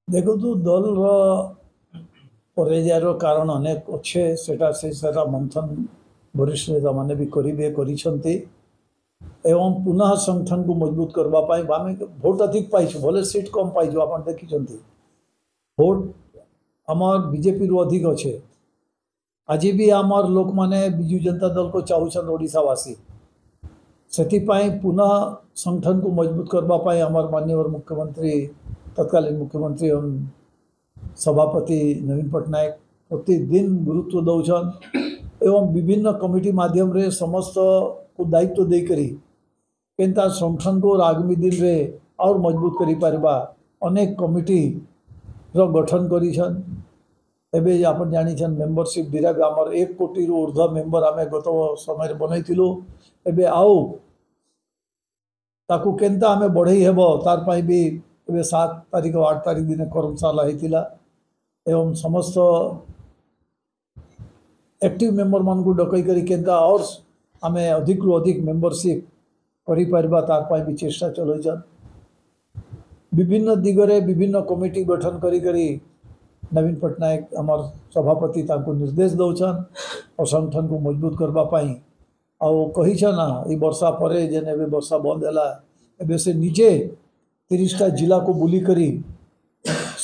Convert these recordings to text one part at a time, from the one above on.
ଦେଖନ୍ତୁ, ଦଳର ପରାଜୟର କାରଣ ଅନେକ ଅଛେ। ସେଟା ସେ ସାରା ମନ୍ଥନ ବରିଷ୍ଠ ନେତାମାନେ ବି କରିବେ, କରିଛନ୍ତି ଏବଂ ପୁନଃ ସଂଗଠନକୁ ମଜବୁତ କରିବା ପାଇଁ ଆମେ ଭୋଟ ଅଧିକ ପାଇଛୁ, ଭଲେ ସିଟ୍ କମ୍ ପାଇଛୁ। ଆପଣ ଦେଖିଛନ୍ତି, ଭୋଟ ଆମର ବିଜେପିରୁ ଅଧିକ ଅଛେ। ଆଜି ବି ଆମର ଲୋକମାନେ ବିଜୁ ଜନତା ଦଳକୁ ଚାହୁଁଛନ୍ ଓଡ଼ିଶାବାସୀ। ସେଥିପାଇଁ ପୁନଃ ସଂଗଠନକୁ ମଜବୁତ କରିବା ପାଇଁ ଆମର ମାନ୍ୟବର ମୁଖ୍ୟମନ୍ତ୍ରୀ, ତତ୍କାଳୀନ ମୁଖ୍ୟମନ୍ତ୍ରୀ ଏବଂ ସଭାପତି ନବୀନ ପଟ୍ଟନାୟକ ପ୍ରତିଦିନ ଗୁରୁତ୍ୱ ଦେଉଛନ୍ ଏବଂ ବିଭିନ୍ନ କମିଟି ମାଧ୍ୟମରେ ସମସ୍ତକୁ ଦାୟିତ୍ୱ ଦେଇକରି କେନ୍ତା ସଂଗଠନକୁ ଆଗାମୀ ଦିନରେ ଆଉର ମଜବୁତ କରିପାରିବା, ଅନେକ କମିଟିର ଗଠନ କରିଛନ୍। ଏବେ ଆପଣ ଜାଣିଛନ୍, ମେମ୍ବରସିପ୍ ଡିରାଇଭ୍ ଆମର 1 କୋଟିରୁ ଉର୍ଦ୍ଧ୍ୱ ମେମ୍ବର ଆମେ ଗତ ସମୟରେ ବନେଇଥିଲୁ। ଏବେ ଆଉ ତାକୁ କେନ୍ତା ଆମେ ବଢ଼େଇ ହେବ, ତାର ପାଇଁ ବି ଏବେ 7 ତାରିଖ 8 ତାରିଖ ଦିନ କର୍ମଶାଳା ହେଇଥିଲା ଏବଂ ସମସ୍ତ ଆକ୍ଟିଭ ମେମ୍ବରମାନଙ୍କୁ ଡକେଇ କରି କେନ୍ତା ଅର୍ ଆମେ ଅଧିକରୁ ଅଧିକ ମେମ୍ବରସିପ୍ କରିପାରିବା, ତାର ପାଇଁ ବି ଚେଷ୍ଟା ଚଲାଇଛନ୍। ବିଭିନ୍ନ ଦିଗରେ ବିଭିନ୍ନ କମିଟି ଗଠନ କରି କରି ନବୀନ ପଟ୍ଟନାୟକ ଆମର ସଭାପତି ତାଙ୍କୁ ନିର୍ଦ୍ଦେଶ ଦେଉଛନ୍ ଆଉ ସଂଗଠନକୁ ମଜବୁତ କରିବା ପାଇଁ। ଆଉ କହିଛନ୍ ନା, ଏଇ ବର୍ଷା ପରେ ଯେନ୍ ଏବେ ବର୍ଷା ବନ୍ଦ ହେଲା, ଏବେ ସେ ନିଜେ 30ଟା ଜିଲ୍ଲାକୁ ବୁଲିକରି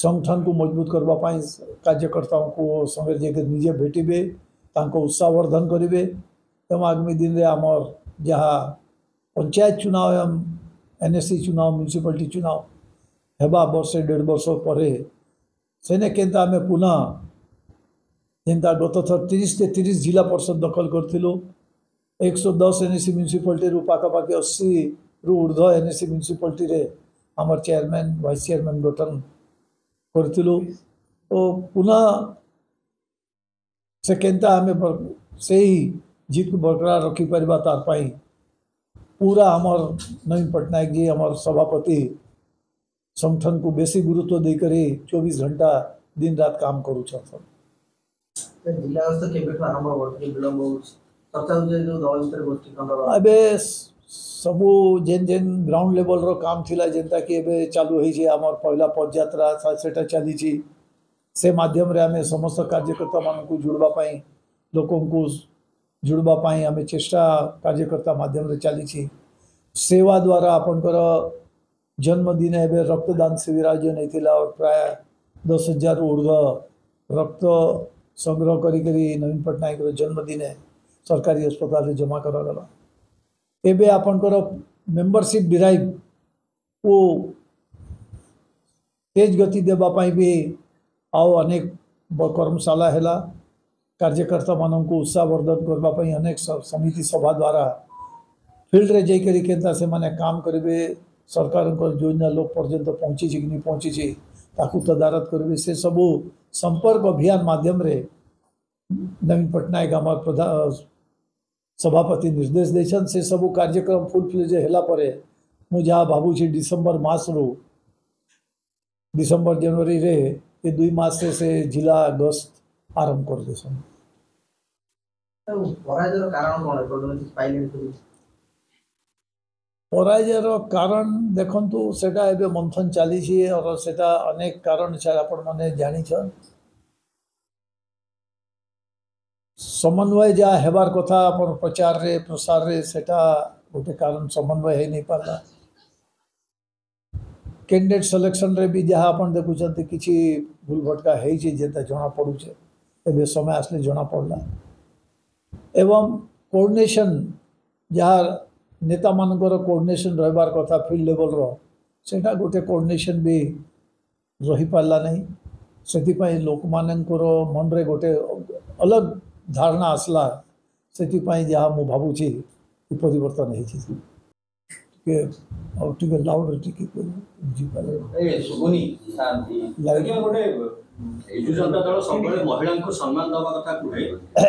ସଂଗଠନକୁ ମଜବୁତ କରିବା ପାଇଁ କାର୍ଯ୍ୟକର୍ତ୍ତାଙ୍କୁ ସଙ୍ଗରେ ଯାଇକି ନିଜେ ଭେଟିବେ, ତାଙ୍କ ଉତ୍ସାହବର୍ଦ୍ଧନ କରିବେ ଏବଂ ଆଗାମୀ ଦିନରେ ଆମର ଯାହା ପଞ୍ଚାୟତ ଚୁନାव ଏବଂ ଏନ୍ ଏ ସି ଚୁନାव, ମ୍ୟୁନିସିପାଲିଟି ଚୁନାव ହେବା ବର୍ଷେ ଦେଢ଼ ବର୍ଷ ପରେ, ସେନେ କେନ୍ତା ଆମେ ପୁନଃ ଯେନ୍ତା ଗତ ଥର 30 30 ଜିଲ୍ଲା ପରିଷଦ ଦଖଲ କରିଥିଲୁ, 110 ଏନ୍ ଏ ସି ମ୍ୟୁନିସିପାଲିଟିରୁ ପାଖାପାଖି 80ରୁ ଉର୍ଦ୍ଧ୍ୱ ଏନ୍ ଏ ସି ମ୍ୟୁନିସିପାଲିଟିରେ ଆମର ଚେୟାରମ୍ୟାନ୍, ଭାଇସ୍ ଚେୟାରମ୍ୟାନ୍ ଗଠନ କରିଥିଲୁ। ତ ପୁନଃ ସେ କେନ୍ତା ଆମେ ସେଇ ଜିତକୁ ବରକରାର ରଖିପାରିବା, ତାର ପାଇଁ ପୁରା ଆମର ନବୀନ ପଟ୍ଟନାୟକ ଜି, ଆମର ସଭାପତି, ସଂଗଠନକୁ ବେଶୀ ଗୁରୁତ୍ୱ ଦେଇକରି 24 ଘଣ୍ଟା ଦିନ ରାତ କାମ କରୁଛନ୍। ଜିଲ୍ଲା ଗସ୍ତ କେବେଠୁ ଆରମ୍ଭ ହବ? ଟିକେ ବିଳମ୍ବ ହଉଛି, ଚର୍ଚ୍ଚା ହଉଛି ଯୋଉ ଦଳ ଭିତରେ ଗୋଷ୍ଠୀ କନ୍ଦଳ। ଏବେ ସବୁ ଯେନ୍ ଯେନ୍ ଗ୍ରାଉଣ୍ଡ ଲେଭେଲର କାମ ଥିଲା, ଯେନ୍ତା କି ଏବେ ଚାଲୁ ହେଇଛି ଆମର ପହିଲା ପଦଯାତ୍ରା, ସେଟା ଚାଲିଛି। ସେ ମାଧ୍ୟମରେ ଆମେ ସମସ୍ତ କାର୍ଯ୍ୟକର୍ତ୍ତାମାନଙ୍କୁ ଯୋଡ଼ିବା ପାଇଁ, ଲୋକଙ୍କୁ ଯୋଡ଼ିବା ପାଇଁ ଆମେ ଚେଷ୍ଟା କାର୍ଯ୍ୟକର୍ତ୍ତା ମାଧ୍ୟମରେ ଚାଲିଛି। ସେବା ଦ୍ୱାରା ଆପଣଙ୍କର ଜନ୍ମଦିନ ଏବେ ରକ୍ତଦାନ ଶିବିର ଆୟୋଜନ ହେଇଥିଲା ଆଉ ପ୍ରାୟ 10,000ରୁ ଉର୍ଦ୍ଧ୍ୱ ରକ୍ତ ସଂଗ୍ରହ କରିକରି ନବୀନ ପଟ୍ଟନାୟକର ଜନ୍ମଦିନେ ସରକାରୀ ହସ୍ପତାଲରେ ଜମା କରାଗଲା। ଏବେ ଆପଣଙ୍କର ମେମ୍ବରସିପ୍ ଡ୍ରାଇଭ୍କୁ ତେଜ ଗତି ଦେବା ପାଇଁ ବି ଆଉ ଅନେକ କର୍ମଶାଳା ହେଲା। କାର୍ଯ୍ୟକର୍ତ୍ତାମାନଙ୍କୁ ଉତ୍ସାହବର୍ଦ୍ଧନ କରିବା ପାଇଁ ଅନେକ ସମିତି ସଭା ଦ୍ୱାରା ଫିଲ୍ଡରେ ଯାଇକରି କେନ୍ତା ସେମାନେ କାମ କରିବେ, ସରକାରଙ୍କର ଯୋଜନା ଲୋକ ପର୍ଯ୍ୟନ୍ତ ପହଞ୍ଚିଛି କି ନାଇଁ ପହଞ୍ଚିଛି, ତାକୁ ତଦାରଖ କରିବେ, ସେ ସବୁ ସମ୍ପର୍କ ଅଭିଯାନ ମାଧ୍ୟମରେ ନବୀନ ପଟ୍ଟନାୟକ ଆମର ପ୍ରଧାନ ସଭାପତି ନିର୍ଦ୍ଦେଶ ଦେଇଛନ୍। ସେ ସବୁ କାର୍ଯ୍ୟକ୍ରମ ଫୁଲ୍ ଫ୍ଲେଜ୍ ହେଲା ପରେ ମୁଁ ଯାହା ଭାବୁଛି, ଡିସେମ୍ବର ମାସରୁ, ଡିସେମ୍ବର ଜାନୁଆରୀରେ ଏ 2 ମାସରେ ସେ ଜିଲ୍ଲା ଗସ୍ତ ଆରମ୍ଭ କରିଦେଇଛନ୍। ପରାଜୟର କାରଣ କ'ଣ ଏପର୍ଯ୍ୟନ୍ତ କିଛି ପାଇଲେନି ତ? ପରାଜୟର କାରଣ ଦେଖନ୍ତୁ, ସେଟା ଏବେ ମନ୍ଥନ ଚାଲିଛି और ସେଟା ଅନେକ କାରଣ ଆପଣମାନେ ଜାଣିଛନ୍। ସମନ୍ୱୟ ଯାହା ହେବାର କଥା ଆପଣ ପ୍ରଚାରରେ ପ୍ରସାରରେ, ସେଟା ଗୋଟେ କାରଣ, ସମନ୍ୱୟ ହେଇ ନାଇଁ ପାରିଲା। କ୍ୟାଣ୍ଡିଡେଟ୍ ସିଲେକ୍ସନରେ ବି ଯାହା ଆପଣ ଦେଖୁଛନ୍ତି, କିଛି ଭୁଲ ଭଟକା ହେଇଛି ଯେନ୍ତା ଜଣା ପଡ଼ୁଛେ, ଏବେ ସମୟ ଆସିଲେ ଜଣା ପଡ଼ିଲା। ଏବଂ କୋଅର୍ଡିନେସନ୍, ଯାହା ନେତାମାନଙ୍କର କୋଅର୍ଡିନେସନ୍ ରହିବାର କଥା ଫିଲ୍ଡ ଲେଭେଲର, ସେଇଟା ଗୋଟେ କୋଅର୍ଡିନେସନ୍ ବି ରହିପାରିଲା ନାହିଁ। ସେଥିପାଇଁ ଲୋକମାନଙ୍କର ମନରେ ଗୋଟେ ଅଲଗ ଧାରଣା ଆସିଲା। ସେଥିପାଇଁ ଯାହା ମୁଁ ଭାବୁଛି କି ପରିବର୍ତ୍ତନ ହେଇଛି। ଟିକେ ଆଉ ଟିକେ ଲାଉଡ୍ ଟିକେ ବୁଝିପାରିଲେ? ଶୁଭୁନି। ଆଜ୍ଞା, ଗୋଟେ ବିଜୁ ଜନତା ଦଳ ସବୁବେଳେ ମହିଳାଙ୍କୁ ସମ୍ମାନ ଦେବା କଥା କୁହେ।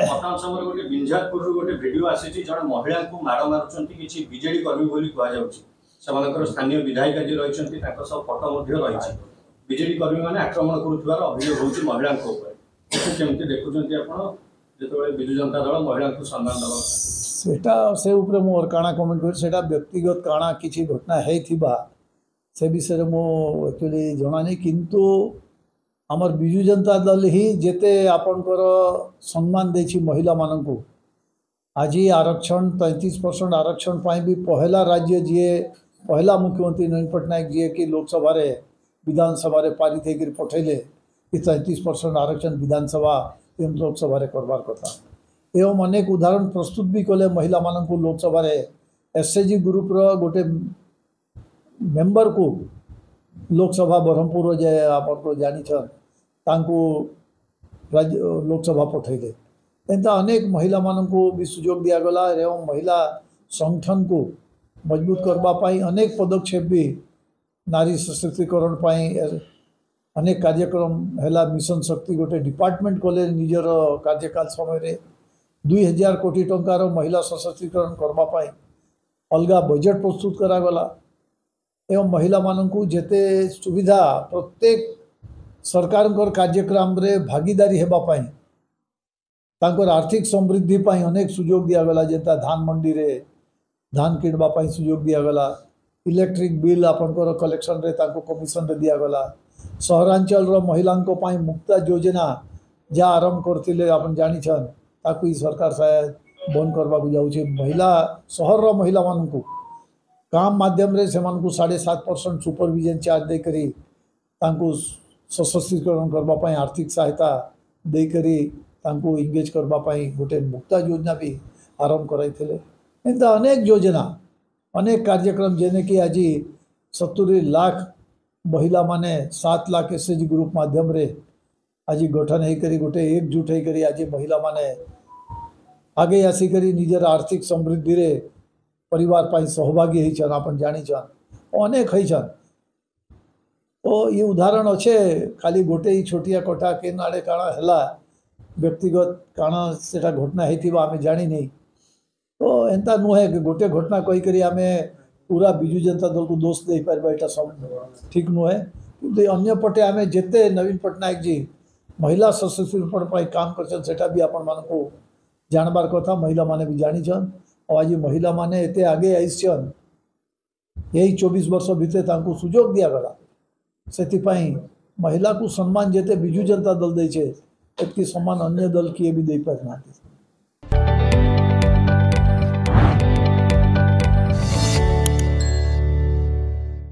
ବର୍ତ୍ତମାନ ସମୟରେ ଗୋଟେ ବିଞ୍ଝାରପୁରରୁ ଗୋଟେ ଭିଡିଓ ଆସିଛି, ଜଣେ ମହିଳାଙ୍କୁ ମାଡ଼ ମାରୁଛନ୍ତି କିଛି ବିଜେଡି କର୍ମୀ ବୋଲି କୁହାଯାଉଛି। ସେମାନଙ୍କର ସ୍ଥାନୀୟ ବିଧାୟିକା ଯିଏ ରହିଛନ୍ତି, ତାଙ୍କ ସହ ଫଟୋ ମଧ୍ୟ ରହିଛି। ବିଜେଡି କର୍ମୀମାନେ ଆକ୍ରମଣ କରୁଥିବାର ଅଭିଯୋଗ ହେଉଛି ମହିଳାଙ୍କ ଉପରେ। ଏକୁ କେମିତି ଦେଖୁଛନ୍ତି ଆପଣ, ଯେତେବେଳେ ବିଜୁ ଜନତା ଦଳ ମହିଳାଙ୍କୁ ସମ୍ମାନ ଦେବା କଥା? ସେଟା ସେ ଉପରେ ମୁଁ କାଣା କମେଣ୍ଟ କରି, ସେଟା ବ୍ୟକ୍ତିଗତ କାଣା କିଛି ଘଟଣା ହେଇଥିବା, ସେ ବିଷୟରେ ମୁଁ ଆକ୍ଚୁଆଲି ଜଣାନି, କିନ୍ତୁ ଆମର ବିଜୁ ଜନତା ଦଳ ହିଁ ଯେତେ ଆପଣଙ୍କର ସମ୍ମାନ ଦେଇଛି ମହିଳାମାନଙ୍କୁ। ଆଜି ଆରକ୍ଷଣ 33% ଆରକ୍ଷଣ ପାଇଁ ବି ପହେଲା ରାଜ୍ୟ ଯିଏ, ପହେଲା ମୁଖ୍ୟମନ୍ତ୍ରୀ ନବୀନ ପଟ୍ଟନାୟକ, ଯିଏକି ଲୋକସଭାରେ ବିଧାନସଭାରେ ପାରିତ ହେଇକରି ପଠେଇଲେ କି 33% ଆରକ୍ଷଣ ବିଧାନସଭା ଏବଂ ଲୋକସଭାରେ କରବାର କଥା, ଏବଂ ଅନେକ ଉଦାହରଣ ପ୍ରସ୍ତୁତ ବି କଲେ ମହିଳାମାନଙ୍କୁ ଲୋକସଭାରେ। ଏସ୍ ଏଚ୍ ଜି ଗ୍ରୁପ୍ର ଗୋଟେ ମେମ୍ବରକୁ ଲୋକସଭା ବ୍ରହ୍ମପୁର ଯେ ଆପଣ ଜାଣିଛନ୍, ତାଙ୍କୁ ରାଜ୍ୟ ଲୋକସଭା ପଠେଇଲେ। ଏନ୍ତା ଅନେକ ମହିଳାମାନଙ୍କୁ ବି ସୁଯୋଗ ଦିଆଗଲା ଏବଂ ମହିଳା ସଂଗଠନକୁ ମଜବୁତ କରିବା ପାଇଁ ଅନେକ ପଦକ୍ଷେପ ବି, ନାରୀ ସଶକ୍ତିକରଣ ପାଇଁ ଅନେକ କାର୍ଯ୍ୟକ୍ରମ ହେଲା। ମିଶନ ଶକ୍ତି ଗୋଟେ ଡିପାର୍ଟମେଣ୍ଟ କଲେ ନିଜର କାର୍ଯ୍ୟକାଳ ସମୟରେ। 2000 କୋଟି ଟଙ୍କାର ମହିଳା ସଶକ୍ତିକରଣ କରିବା ପାଇଁ ଅଲଗା ବଜେଟ୍ ପ୍ରସ୍ତୁତ କରାଗଲା ଏବଂ ମହିଳାମାନଙ୍କୁ ଯେତେ ସୁବିଧା, ପ୍ରତ୍ୟେକ ସରକାରଙ୍କର କାର୍ଯ୍ୟକ୍ରମରେ ଭାଗିଦାରୀ ହେବା ପାଇଁ, ତାଙ୍କର ଆର୍ଥିକ ସମୃଦ୍ଧି ପାଇଁ ଅନେକ ସୁଯୋଗ ଦିଆଗଲା। ଯେନ୍ତା ଧାନ ମଣ୍ଡିରେ ଧାନ କିଣିବା ପାଇଁ ସୁଯୋଗ ଦିଆଗଲା, ଇଲେକ୍ଟ୍ରିକ୍ ବିଲ୍ ଆପଣଙ୍କର କଲେକ୍ସନରେ ତାଙ୍କୁ କମିଶନରେ ଦିଆଗଲା। ସହରାଞ୍ଚଳର ମହିଳାଙ୍କ ପାଇଁ ମୁକ୍ତା ଯୋଜନା ଯାହା ଆରମ୍ଭ କରିଥିଲେ ଆପଣ ଜାଣିଛନ୍, ତାକୁ ହିଁ ସରକାର ସାୟଦ ବନ୍ଦ କରିବାକୁ ଯାଉଛି। ମହିଳା ସହରର ମହିଳାମାନଙ୍କୁ କାମ ମାଧ୍ୟମରେ ସେମାନଙ୍କୁ 7.5% ସୁପରଭିଜନ ଚାର୍ଜ ଦେଇକରି ତାଙ୍କୁ ସଶକ୍ତିକରଣ କରିବା ପାଇଁ, ଆର୍ଥିକ ସହାୟତା ଦେଇକରି ତାଙ୍କୁ ଏଙ୍ଗେଜ୍ କରିବା ପାଇଁ ଗୋଟେ ମୁକ୍ତା ଯୋଜନା ବି ଆରମ୍ଭ କରାଇଥିଲେ। ଏନ୍ତା ଅନେକ ଯୋଜନା, ଅନେକ କାର୍ଯ୍ୟକ୍ରମ, ଯେନେକି ଆଜି 70 ଲାଖ ମହିଳାମାନେ 7 ଲାଖ ଏସ୍ ଏଚ୍ ଜି ଗ୍ରୁପ୍ ମାଧ୍ୟମରେ ଆଜି ଗଠନ ହେଇକରି ଗୋଟେ ଏକଜୁଟ ହେଇକରି ଆଜି ମହିଳାମାନେ ଆଗେଇ ଆସିକରି ନିଜର ଆର୍ଥିକ ସମୃଦ୍ଧିରେ ପରିବାର ପାଇଁ ସହଭାଗୀ ହେଇଛନ୍, ଆପଣ ଜାଣିଛନ୍, ଅନେକ ହେଇଛନ୍। ତ ଇଏ ଉଦାହରଣ ଅଛେ। ଖାଲି ଗୋଟେ ଇ ଛୋଟିଆ କଥା କେନ୍ ଆଡ଼େ କାଣା ହେଲା, ବ୍ୟକ୍ତିଗତ କାଣା ସେଟା ଘଟଣା ହେଇଥିବ ଆମେ ଜାଣିନି। ତ ଏନ୍ତା ନୁହେଁ କି ଗୋଟେ ଘଟଣା କହିକରି ଆମେ ପୁରା ବିଜୁ ଜନତା ଦଳକୁ ଦୋଷ ଦେଇପାରିବା, ଏଇଟା ସବୁ ଠିକ୍ ନୁହେଁ। କିନ୍ତୁ ଅନ୍ୟପଟେ ଆମେ ଯେତେ ନବୀନ ପଟ୍ଟନାୟକ ଜି ମହିଳା ସଶକ୍ତିକରଣ ପାଇଁ କାମ କରିଛନ୍ତି, ସେଟା ବି ଆପଣମାନଙ୍କୁ ଜାଣବାର କଥା, ମହିଳାମାନେ ବି ଜାଣିଛନ୍। ଆଉ ଆଜି ମହିଳାମାନେ ଏତେ ଆଗେଇ ଆସିଛନ୍, ଏଇ 24 ବର୍ଷ ଭିତରେ ତାଙ୍କୁ ସୁଯୋଗ ଦିଆଗଲା। ସେଥିପାଇଁ ମହିଳାକୁ ସମ୍ମାନ ଯେତେ ବିଜୁ ଜନତା ଦଳ ଦେଇଛେ, ଏତିକି ସମ୍ମାନ ଅନ୍ୟ ଦଳ କିଏ ବି ଦେଇପାରିନାହାନ୍ତି।